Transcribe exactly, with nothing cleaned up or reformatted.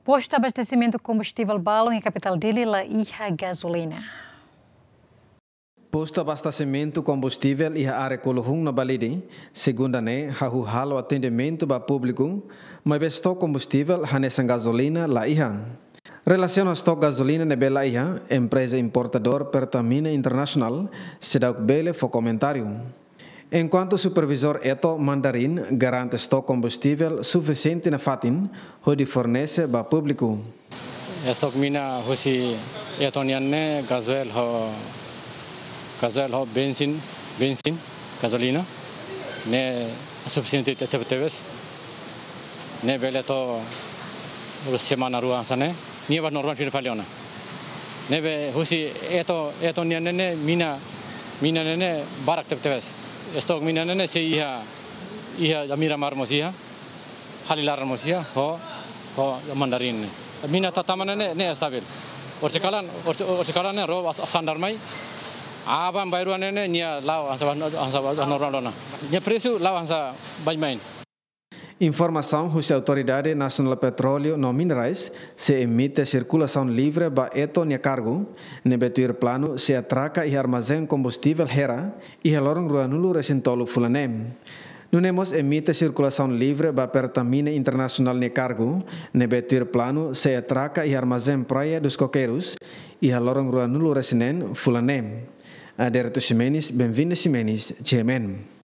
Postu abastesimentu kombustivel balun iha kapitál Dili la iha gazolina. Postu abastesimentu kombustivel iha área Kuluhun no Balide, segunda ne'e hahú halo atendimentu ba públiku, maibé estok kombustivel hanesan gazolina la iha. Relasiona ho estok gazolina ne'ebé la iha, empreza importadór Pertamina Internasionál seidauk bele fó komentáriu. Enkuantu supervizór Eto Mandarin garante estok kombustivel sufisiente nafatin hodi fornese ba públiku. Estok mina husi Eto nian ne'e gazóil ho, gazóil ho bensin, bensin, gazolina, ne'e sufisiente te-, te-, tebes. Ne'e bele to'o semana rua hanesan ne'e, nia bá normál fila fali ona. Ne'ebé husi Eto, Eto nian ne'e, mina, mina ne'e barak tebetebes. Estok mina ne'e sei iha, iha Miramar mós iha, Halilaran mós iha, ho, ho Mandarin ne'e. Mina ta-, tama ne'e, ne'e estabil. Orsida kalan, orsida, orsida kalan ne'e ró as-, sandar mai. Aban-bainrua ne'e, ne'e nia la'o hanesan, hanesan normál ona. Nia presu la'o hanesan baibain. Informasaun husi Autoridade Nasionál Petróleu no Minerais sei emite sirkulasaun livre ba Eto nia kargu, ne'ebé tuir planu sei atraka iha armazén kombustivel Hera, iha loron ruanulu-resin-tolu fulan ne'e. Nune'e mós emite sirkulasaun livre ba Pertamina Internasionál nia kargu, ne'ebé tuir planu sei atraka iha armazén Praia dos Coqueiros, iha loron ruanulu-resin-neen fulan ne'e. Adérito Ximenes, Benvinda Ximenes, G M N.